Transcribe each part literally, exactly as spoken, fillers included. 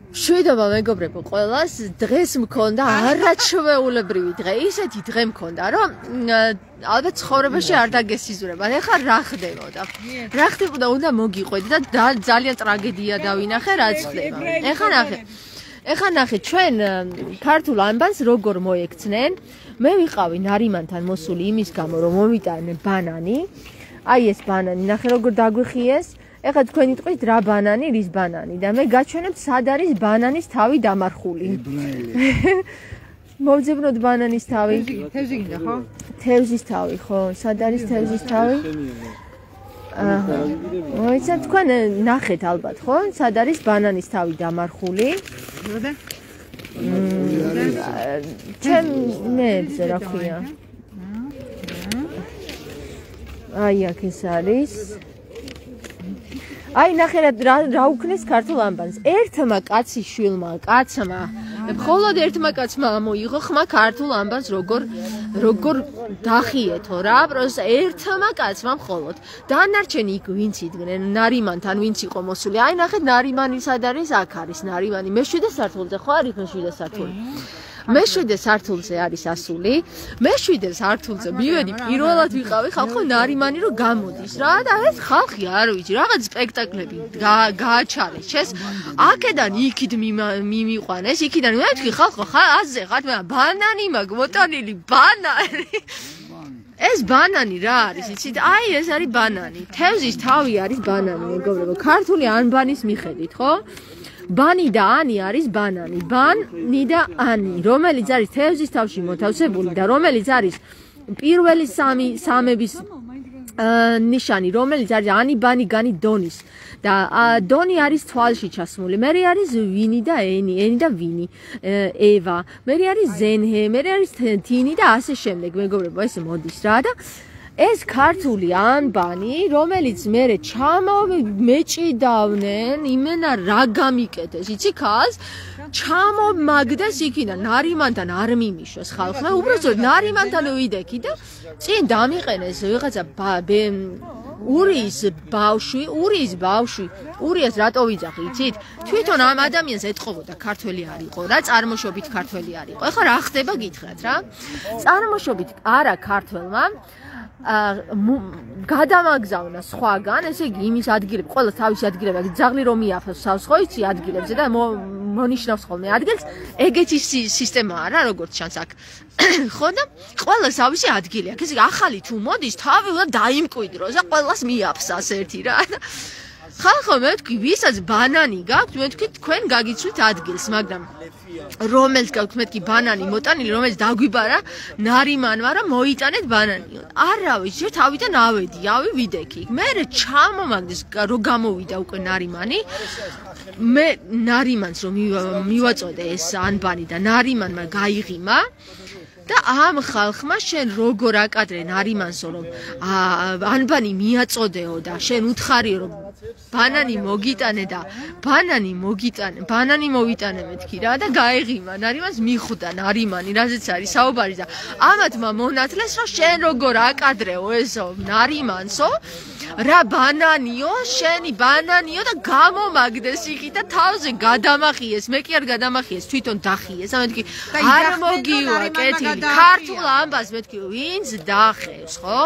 მშვიდობა მეგობრებო ყველას დღეს მქონდა არაჩვეულებრივი დღე ისეთი დღე მქონდა რომ ალბათ ცხოვრებაში არ დაგესიზურება ეხლა რა ხდებოდა რა ხდებოდა უნდა მოგიყვეთ და ძალიან ტრაგედია დავინახე რაც ხდება ეხლა ნახე ეხლა ნახე ჩვენ ქართულ ანბანს როგორ მოექცნენ მე ვიყავი ნარიმანთან მოსული იმის გამო რომ მომიტანენ ბანანი აი ეს ბანანი ნახე როგორ დაგვიხიეს ეხლა თქვენი ტყვით რა ბანანი, რის ბანანი და მე გაჩვენებთ სად არის ბანანის თავი დამარხული. მოვძებნოთ ბანანის თავი. თევზი გინდა ხო? თევზის თავი ხო? სად არის თევზის თავი? აჰა. მოიცათ თქვენ ნახეთ ალბათ ხო? სად არის ბანანის თავი დამარხული? როდა? ჩემ მე რა ქვია? აი აქ ეს არის აი ნახე რა რა უქნეს ქართულ ანბანს ერთმა კაცის შვილმა კაცმა მხოლოდ ერთმა კაცმა მოიღო ხმა ქართულ ანბანს როგორ როგორ დახიეთო რა პროს ერთმა კაცმა მხოლოდ დანარჩენი იქ ვინც იდგნენ ნარიმანთან ვინც იყო მოსული აი ნახეთ ნარიმანი სად არის აქ არის ნარიმანი მეშვიდე სართულზე ხო არის მეშვიდე სართული მეშვიდე სართულზე არის ასული მეშვიდე სართულზე მივედი პირველად ვიყავი ხალხო ნარიმანი რომ გამოდის რა და ეს ხალხი არ ვიცი რაღაც სპექტაკლები გააჩარეს ჩეს აქედან იქით მიმიყვანეს იქიდან მე ვთქვი ხალხო აზე ხარ მე ბანანი მაგ მოტანილი ბანანი ეს ბანანი რა არის იცით აი ეს არის ბანანი თევზის თავი არის ბანანი მეგობრებო ქართული ანბანის მიხედვით ხო ბანი და ანი არის ბანანი ბანი და ანი რომელიც არის თევზის თავში მოთავსებული და რომელიც არის პირველი სამი სამების ნიშანი რომელიც არის ანი ბანი განი დონის და დონი არის თვალში ჩასმული მე არის ვინი და ენი ენი და ვინი ევა მე არის ზენჰე მე არის თინი და ასე შემდეგ მეგობრებო ეს მოდის რა და ეს ქართული ანბანი რომელიც მერე ჩამომეჭიდავნენ იმენა რა გამიკეთეს იცი ხალხს ჩამომაგდეს იქიდან ნარიმანთან არ მიმიშოს ხალხმა უბრალოდ ნარიმანთან ვიდექი და წინ დამიყენეს ვიღაცა ურიის ბავშვი ურიის ბავშვი ურიას რატო ვიძახი იცით თვითონ ამ ადამიანს ეთყობოდა ქართველი არ იყო რა წარმოშობით ქართველი არ იყო ეხლა რა ხდება გითხრათ რა წარმოშობით არა ქართველმა გადამაგზავნა სხვაგან, ესე იგი იმის ადგილები, ყველა თავისი ადგილები, ძაღლი რომ მიაფროს სავს ხო იცი ადგილებზე და მონიშნავს ხოლმე ადგილს, ეგეთი სისტემაა რა, როგორც ჩანს აქ. ხო და ყველა თავისი ადგილი აქვს. ესე იგი ახალი თუ მოდის, თავი უნდა დაიმკვიდროს და ყველას მიაფსას ერთი რა. ხალხო მე ვთქვი, ვისაც ბანანი გაქვთ, მე ვთქვი თქვენ გაგიცვით ადგილს, მაგრამ რომელს გაქვთ მეთქი ბანანი მოტანილი, რომელიც დაგვიბარა ნარიმანმა რომ მოიტანეთ ბანანი. არა ვიცი, თავიდან ავედი, ავი ვიდექი. მე ჩამომაგდეს რომ გამოვიდა უკვე ნარიმანი. მე ნარიმანს რომ მივაწოდე ეს ანბანი და ნარიმანმა გაიღიმა და ამ ხალხმა შენ როგორ აკადრე ნარიმანსო რომ ანბანი მიაწოდეო და შენ უთხარიო რომ ბანანი მოგიტანე და ბანანი მოგიტანე ბანანი მოვიტანე მეთქი რა და გაეღიმა ნარიმანს მიხვდა ნარიმანი რაზეც არის საუბარი და ამათმა მონათლეს რომ შენ როგორ აკადრეო ესო ნარიმანსო რა ბანანიო შენი ბანანიო და გამომაგდეს იქით და თავზე გადამახიეს მე კი არ გადამახიეს თვითონ დახიეს ამე მეთქი არ მოგივა კეთილი ქართულ ანბანს მეთქი ვინც დახევს ხო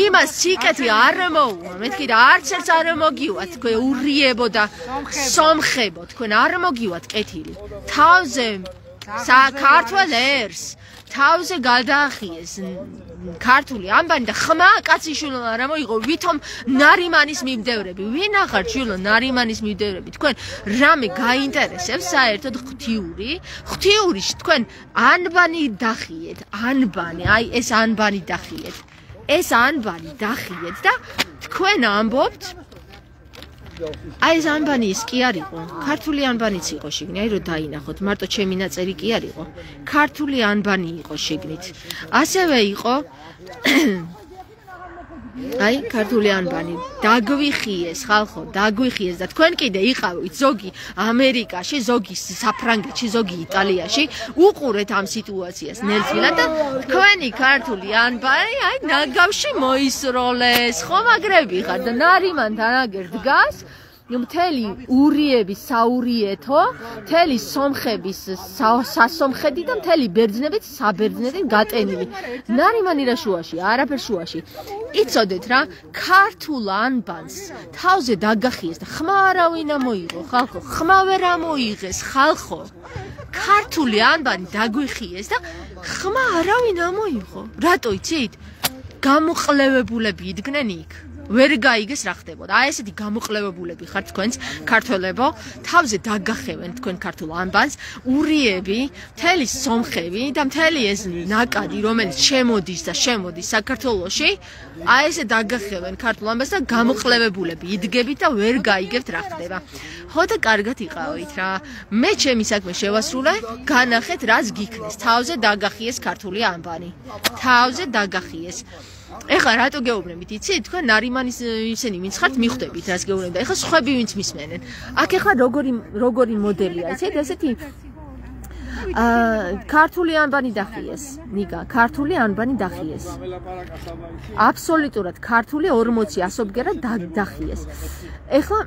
იმას სიკეთი არ მოუვა მეთქი და არც ერთს არ მოგივა თქვენ ურიებო და სომხებო თქვენ არ მოგივათ კეთილი თავზე საქართველოს ერს თავზე გადაახიეს ქართული ანბანი და ხმა კაციშვილო რა მოიღო ვითომ ნარიმანის მიმდევრები ვინ ახარ შვილო ნარიმანის მიმდევრები თქვენ რამე გაინტერესებს საერთოდ ღვთიური ღვთიური თქვენ ანბანი დახიეთ ანბანი აი ეს ანბანი დახიეთ ეს ანბანი დახიეთ და თქვენ ამბობთ აი ეს ანბანი ის კი არ იყო ქართული ანბანიც იყო შიგნით აი რომ დაინახოთ მარტო ჩემი ნაწერი კი არ იყო ქართული ანბანი იყო შიგნით ასევე იყო აი ქართული ანბანი დაგვიხიეს ხალხო დაგვიხიეს და თქვენ კიდე იყავით ზოგი ამერიკაში ზოგი საფრანგეთში ზოგი იტალიაში უყურეთ ამ სიტუაციას ნელსმილად და თქვენი ქართული ანბანი აი ნაგავში მოისროლეს ხო მაგრები ხარ და ნარიმანთან აგერ დგას მთელი ურიების საურიეთო, მთელი სომხების სასომხეთი და მთელი ბერძნებით საბერძნეთით გატენილი. ნარიმანი რა შუაში, არაფერ შუაში. იცოდეთ რა, ქართულ ანბანს თავზე დაგახიეს და ხმა არავინ ამოიღო, ხალხო, ხმა ვერ ამოიღეს, ხალხო. ქართული ანბანი დაგვიხიეს და ხმა არავინ ამოიღო. რატო იცით? გამოყლევებულები იდგნენ იქ. ვერ გაიგეს რა ხდებოდა. აი ესეთი გამოყლევებულები ხართ თქვენც ქართველებო, თავზე დაგახევენ თქვენ ქართულ ანბანს, ურიები, მთელი სომხები და მთელი ეს ნაკადი, რომელიც შემოდის და შემოდის საქართველოში, აი ესე დაგახევენ ქართულ ანბანს და გამოყლევებულები იდგებით და ვერ გაიგებთ რა ხდება. ხო და კარგად იყავით რა. მე ჩემი საქმე შევასრულე, განახეთ რაც გიქნეს. თავზე დაგახიეს ქართული ანბანი. თავზე დაგახიეს. ეხლა რატო გეუბნებით, იცით? თქვენ ნარიმანის ისენი ვინც ხართ, მიხვდებით რას გეუბნებით და ეხლა სხვები ვინც მისმენენ. აქ ეხლა როგორი როგორი მოდელია, იცით? ესეთი აა ქართული ანბანი დახიეს. ნიკა, ქართული ანბანი დახიეს. აბსოლუტურად ქართული ორმოცი ასობგერა დახიეს. ეხლა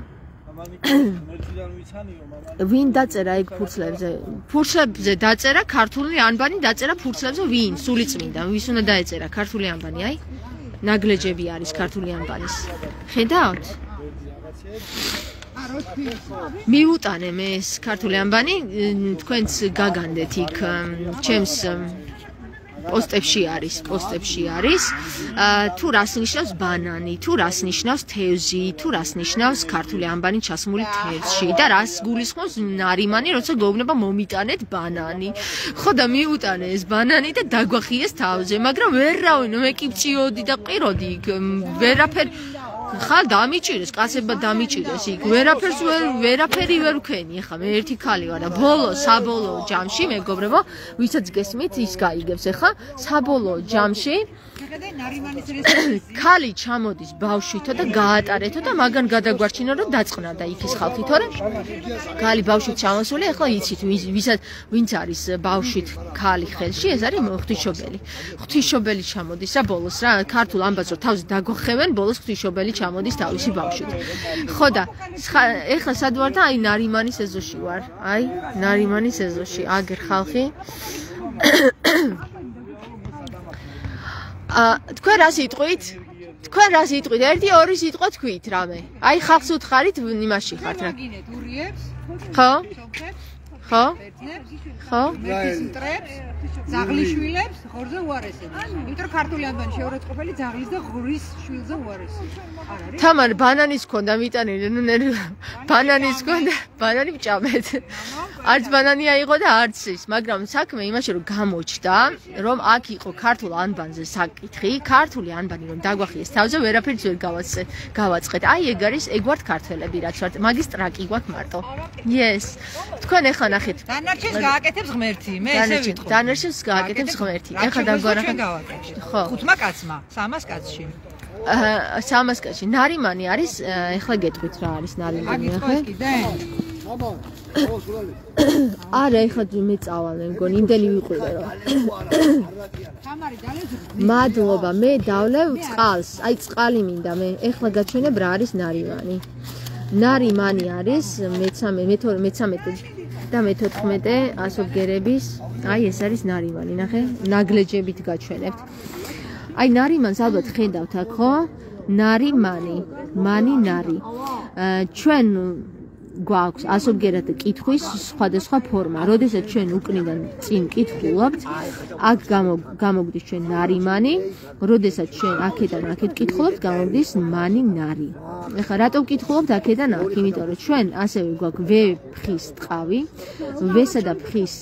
ვინ დაწერა ეგ ფურცლებზე? ფურცლებზე დაწერა ქართული ანბანი, დაწერა ფურცლებზე ვინ? სულიწმინდა, ვის უნდა დაეწერა ქართული ანბანი, აი? ნაგლეჯები არის ქართული ანბანის. ხედავთ? მიუტანე მე ეს ქართული ანბანი, თქვენც გაგანდეთ იქ ჩემს პოსტებში არის, პოსტებში არის. თუ რას ნიშნავს ბანანი, თუ რას ნიშნავს თევზი, თუ რას ნიშნავს ქართული ანბანი ჩასმული თევზში და რას გულისხმობს ნარიმანი, როცა გეუბნება მომიტანეთ ბანანი. ხო და მიუტანე ეს ბანანი და დაგვახიეს თავზე, მაგრამ ვერ რავინო, მე კი ვჭიოდი და ყიროდი იქ, ვერაფერ ხალ დამიჭირეს, კაცებმა დამიჭირეს იქ, ვერაფერს ვერ ვერაფერი ვერ ვქენი, ეხლა მე ერთი ქალი ვარ და ბოლო საბოლოო ჯამში მეგობრებო, ვისაც გესმით, ის გაიგებს ეხლა, საბოლოო ჯამში ქალი ჩამოდის ბავშვითო და გაატარეთო და მაგან გადაგვარჩინო რომ დაწყნარდა იქ ის ხალხი, თორე ქალი ბავშვით ჩამოსული, ეხლა იცით ვისაც ვინც არის ბავშვით ქალი ხელში, ეს არის ღვთისმშობელი. ღვთისმშობელი ჩამოდის რა ბოლოს რა, ქართულ ანბანს რო თავზე დაგვახევენ, ბოლოს ღვთისმშობელი ჩამოდის თავისი ბავშვით. ხო და ეხლა სად ვარ და აი ნარიმანის ეზოში ვარ. აი ნარიმანის ეზოში, აგერ ხალხი. აა თქვენ რა სიტყვით? თქვენ რა სიტყვით? ერთი ორი სიტყვა თქვით რამე. აი ხალხს უთხარით იმაში ხართ რა. ხო? ხო? ხო? ზაღლიშვილებს ხორზე უარესებს. იმიტომ რომ ქართული ანბანი შეურაცხყოფელი ძაღლის და ღრის შვილზე უარესებს. თამარ ბანანის ქონდა მიტანილი, ნუ ბანანის ქონდა, ბანანი ვჭამეთ. არც ბანანი აიღო და არც ის, მაგრამ საქმე იმაში რომ გამოჩნდა, რომ აქ იყო ქართულ ანბანზე საკითხი, ქართული ანბანი რომ დაგვახიეს თავზე, ვერაფერს ვერ გავაწყეთ, გავაწყეთ. აი ეგ არის, ეგ ვართ ქართველები რაც ვართ. მაგის ტრაკი გვაქვს მარტო. Yes. თქვენ ეხლა ნახეთ. დანარჩენს გააკეთებს ღმერთი, მე ესე ვიტყვი. დანარჩენს გააკეთებს ღმერთი. ეხლა დაგვარახეთ. ხო. ხუთმა კაცმა, სამას კაცში. აა სამას კაცში. ნარიმანი არის, ეხლა გეტყვით რა არის ნარიმანი, ახლა? არა, ეხლა მე წავალ, მგონი, იმდენი ვიყურე რომ. მადლობა, მე დავლევ წყალს. აი წყალი მინდა მე. ეხლა გაჩვენებ რა არის ნარიმანი. ნარიმანი არის მეთორმეტე და მეთოთხმეტე ასობგერების, აი ეს არის ნარიმანი, ნახე, ნაგლეჯებით გაჩვენებთ. აი ნარიმანს ალბათ ხედავთ აქ, ხო? ნარიმანი, მანი ნარი. ჩვენ გვაქვს ასობგერად კითხვის სხვადასხვა ფორმა. როდესაც ჩვენ უკნიდან წინ კითხულობთ, აქ გამოგდის ჩვენ ნარიმანი, როდესაც ჩვენ აქედან აქეთ კითხულობთ, გამოგდის მანი ნარი. ეხლა რატო ვკითხულობთ აქედან აქ? იმიტომ რომ ჩვენ ასევე გვაქვს ვე ფხის ტყავი, ვესა და ფხის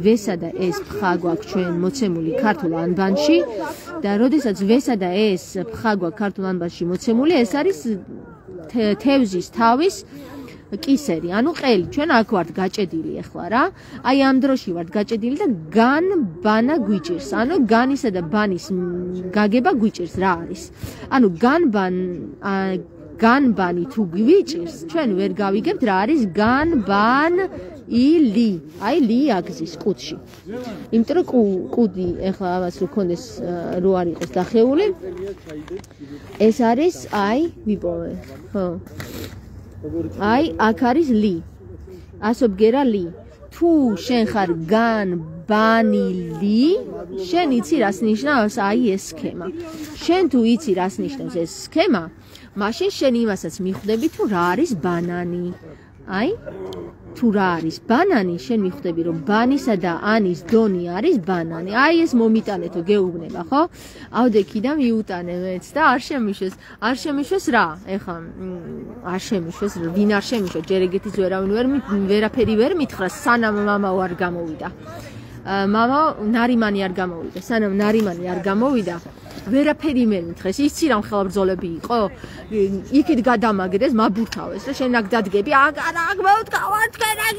ვესა და ეს ფხა გვაქვს ჩვენ მოცემული ქართულ ანბანში და როდესაც ვესა და ეს ფხა გვაქვს ქართულ ანბანში მოცემული, ეს არის თევზის თავის კისერი, ანუ ყელი, ჩვენ აქ ვართ გაჭედილი ახლა რა. აი ამ დროში ვართ გაჭედილი და გან ბანა გვიჭირს. ანუ განისა და ბანის გაგება გვიჭირს რა არის. ანუ განბან განბანი თუ გვიჭირს, ჩვენ ვერ გავიგებთ რა არის განბან ილი. აი ლი აგზის კუდში. იმიტომ რომ კუდი ახლა ამას რო ქონდეს რო არ იყოს დახეული. ეს არის აი ვიპოვე. ხო. აი, აქ არის ლი. ასობგერა ლი. თუ შენ ხარ გან ბანილი, შენ იცი რას ნიშნავს აი ეს სქემა. შენ თუ იცი რას ნიშნავს ეს სქემა, მაშინ შენ იმასაც მიხვდები თუ რა არის ბანანი. აი, თუ რა არის ბანანი, შენ მიხვდები რომ ბანისა და ანის დონი არის ბანანი. აი ეს მომიტანეთო გეუბნება, ხო? ავდექი და მიუტანე მეც და არ შემიშვეს. არ შემიშვეს რა? ეხლა არ შემიშვეს, ვინ არ შემიშვეს, ჯერ ეგეთის ვერავინ ვერ ვერაფერი ვერ მითხრა, სანამ მამაო არ გამოვიდა. მამა ნარიმანი არ გამოვიდა, სანამ ნარიმანი არ გამოვიდა. ვერაფერი მე მითხრეს, იცი რა მხელა ბრძოლები იყო? იქით გადამაგდეს, მაბურთავეს და შენ აქ დადგები, აგარ აქ მოვდგავარ თქვენ აქ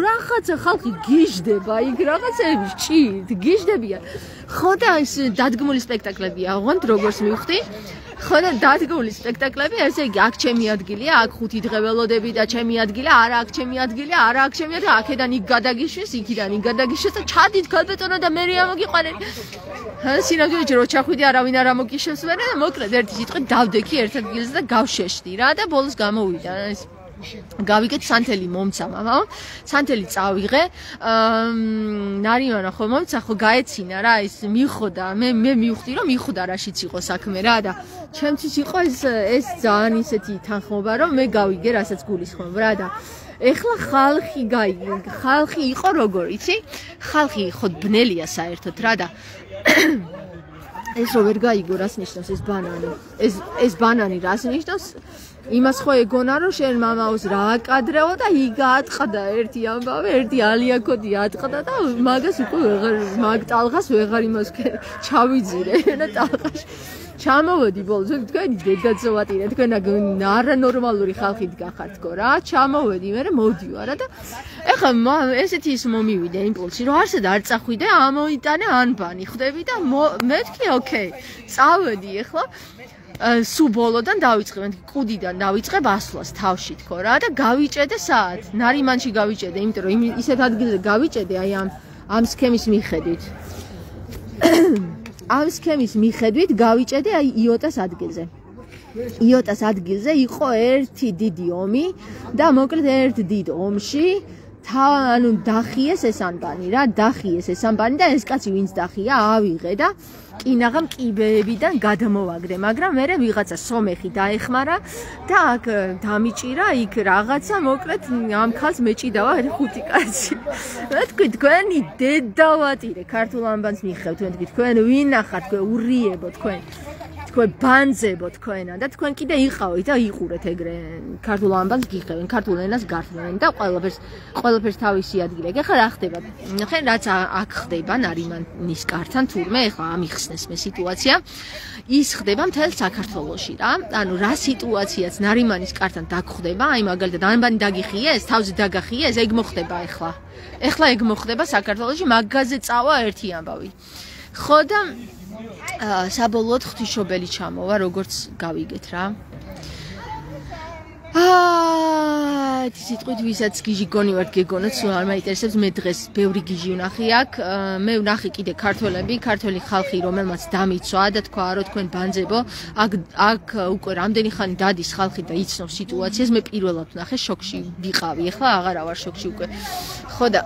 რაღაცა ხალხი გიჟდება, იქ რაღაცები ჭირთ, გიჟდებიან. ხო და ეს დადგმული სპექტაკლებია, ოღონდ როგორც მივხვდი, ხო და დადგმული სპექტაკლები, ესე იგი, აქ ჩემი ადგილია, აქ ხუთი დღე ველოდები და ჩემი ადგილია, არა აქ ჩემი ადგილია, არა აქ ჩემი ადგილია, აქედან იქ გადაგიშვეს, იქიდან იქ გადაგიშვეს და ჩადით ქალბატონო და მე ამოგიყვანეთ. სინამდვილეში რო ჩახვიდი არავინ არ ამოგიშევს მერე და მოკლედ ერთი სიტყვით დავდექი ერთ ადგილზე და გავშეშდი რა და ბოლოს გამოვიდა ეს გავიგეთ სანთელი მომცა მამაო სანთელი წავიღე ნარიმანა ხო მომცა ხო გაეცინა რა ეს მიხოდა მე მე მივხვდი რომ მიხოდა რაშიც იყო საქმე რა და ჩემთვის იყო ეს ეს ძალიან ისეთი თანხმობა რომ მე გავიგე რასაც გულისხმობ რა და ეხლა ხალხი გაიგე ხალხი იყო როგორ იცი ხალხი ხო ბნელია საერთოდ რა და ეს რო ვერ გაიგო რას ნიშნავს ეს ბანანი ეს ეს ბანანი რას ნიშნავს იმას ხო ეგონა რომ შენ მამაოს რა აკადრეო და იგა ატყდა ერთი ამბავი ერთი ალიაკოდი ატყდა და მაგას უკვე ვეღარ მაგ ტალღას ვეღარ იმას ჩავიძირე და ტალღაში ჩამოვედი ბოლოს თქვენი დედაცოვატირე თქვენ არანორმალური ხალხით გახართ რა ჩამოვედი მე მოდივარ და ეხლა ესეთი ის მომივიდა იმპულსი რომ არსად არ წახვიდე ამოიტანე ანბანი ხვდები და მე ვთქვი ოკეი წავედი ეხლა სულ ბოლოდან დავიწყე მე კუდიდან დავიწყებ ასვლას თავში თქო რა და გავიჭედე საათ ნარიმანში გავიჭედე იმიტომ რომ ისეთ ადგილზე გავიჭედე აი ამ ამ სქემის მიხედვით ამ სქემის მიხედვით გავიჭედე აი იოტას ადგილზე იოტას ადგილზე იყო ერთი დიდი ომი და მოკლედ ერთ დიდ ომში ანუ დახიეს ეს ანბანი რა დახიეს ეს ანბანი და ეს კაცი ვინც დახია ავიღე და კინაღამ კიბეებიდან გადმოვაგდე მაგრამ მე ვიღაცა სომეხი დაეხმარა და აქ დამიჭირა იქ რაღაცა მოკლედ ამ ხალს მეჭიდავა ხუთი კაცი მე თქვი თქვენი დედავატირე ქართულ ანბანს მიხევთ თქვენ თქვენ ვინ ახართ თქვენ ურიებო თქვენ თქვენ ბანძებო თქვენა და თქვენ კიდე იყავით და იყურეთ ეგრე ქართულ ანბანს გიხევენ ქართულ ენას გართმევენ და ყველაფერს ყველაფერს თავისი ადგილი აქვს. ეხლა რა ხდება? ხენ რაც აქ ხდება ნარიმანის კართან თურმე ეხლა ამიხსნეს მე სიტუაცია ის ხდება მთელ საქართველოში რა. ანუ რა სიტუაციაც ნარიმანის კართან დაგხვდება, აი მაგალითად ანბანი დაგიხიეს, თავზე დაგახიეს, ეგ მოხდება ეხლა. ეხლა ეგ მოხდება საქართველოში, მაგაზე წავა ერთი ამბავი. ხო და საბოლოოდ ღვთისმშობელი ჩამოვა, როგორც გავიგეთ რა. აა, ეს სიტყვით ვისაც გიჟი გონივართ გეგონოთ, სულ არ მაინტერესებს, მე დღეს ბევრი გიჟი ვნახე აქ, მე ვნახე კიდე ქართველები, ქართველი ხალხი, რომელმაც დამიცვა და თქვა რომ თქვენ ბანძებო, აქ აქ უკვე რამდენი ხანი დადის ხალხი და იცნობს სიტუაციას, მე პირველად ვნახე, შოკში ვიყავი, ახლა აღარა ვარ შოკში უკვე. ხო და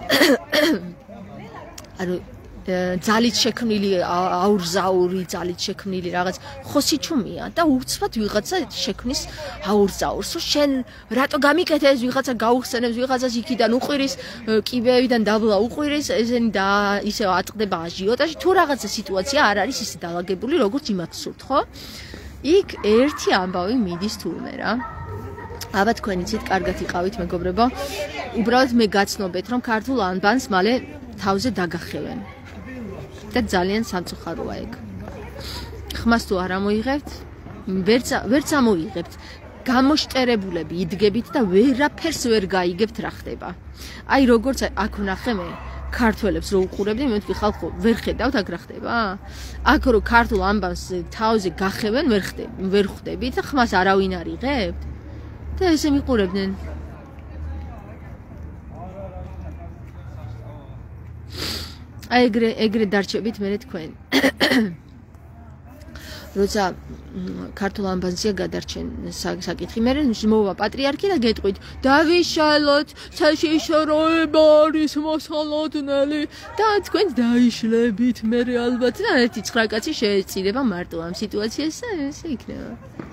ანუ ძალით შექმნილი აურზაური ძალით შექმნილი რაღაც ხოსიჩუმია და უცბად ვიღაცა შექმნის აურზაურს შენ რატო გამიკეთე ეს ვიღაცა გაუხსენებს ვიღაცას იქიდან უყვირის კიბეებიდან დაბლა უყვირის ესენი და ისე ატყდება აჟიოტაჟი თუ რაღაცა სიტუაცია არ არის ისე დაალაგებული როგორც იმათ სურთ ხო იქ ერთი ამბავი მიდის თურმე რა აბა თქვენ იცით კარგად იყავით მეგობრებო უბრალოდ მე გაცნობეთ რომ ქართულ ანბანს მალე თავზე დაგახევენ და ძალიან სამწუხაროა ეგ. ხმას თუ არ ამოიღებთ, ვერც ვერც ამოიღებთ. გამოშტერებულები იდგებით და ვერაფერს ვერ გაიგებთ რა ხდება. აი როგორც აქ ვნახე მე ქართველებს რო უყურებდი, მე ვთქვი ხალხო, ვერ ხედავთ აქ რა ხდება? აქ რო ქართულ ანბანს თავზე გახევენ, ვერ ხდები, ვერ ხვდებით და ხმას არავინ არ იღებთ. და ესე მიყურებდნენ. აი ეგრე ეგრე დარჩებით მე თქვენ. როცა ქართულ ამბანზია გადარჩენ საკითხი მე მოვა პატრიარქი და გეტყვით დავიშალოთ საშიშროება არის მოსალოდნელი და თქვენ დაიშლებით მე ალბათ და ერთი ცხრა კაცი შეეწირება მარტო ამ სიტუაციას და ესე იქნება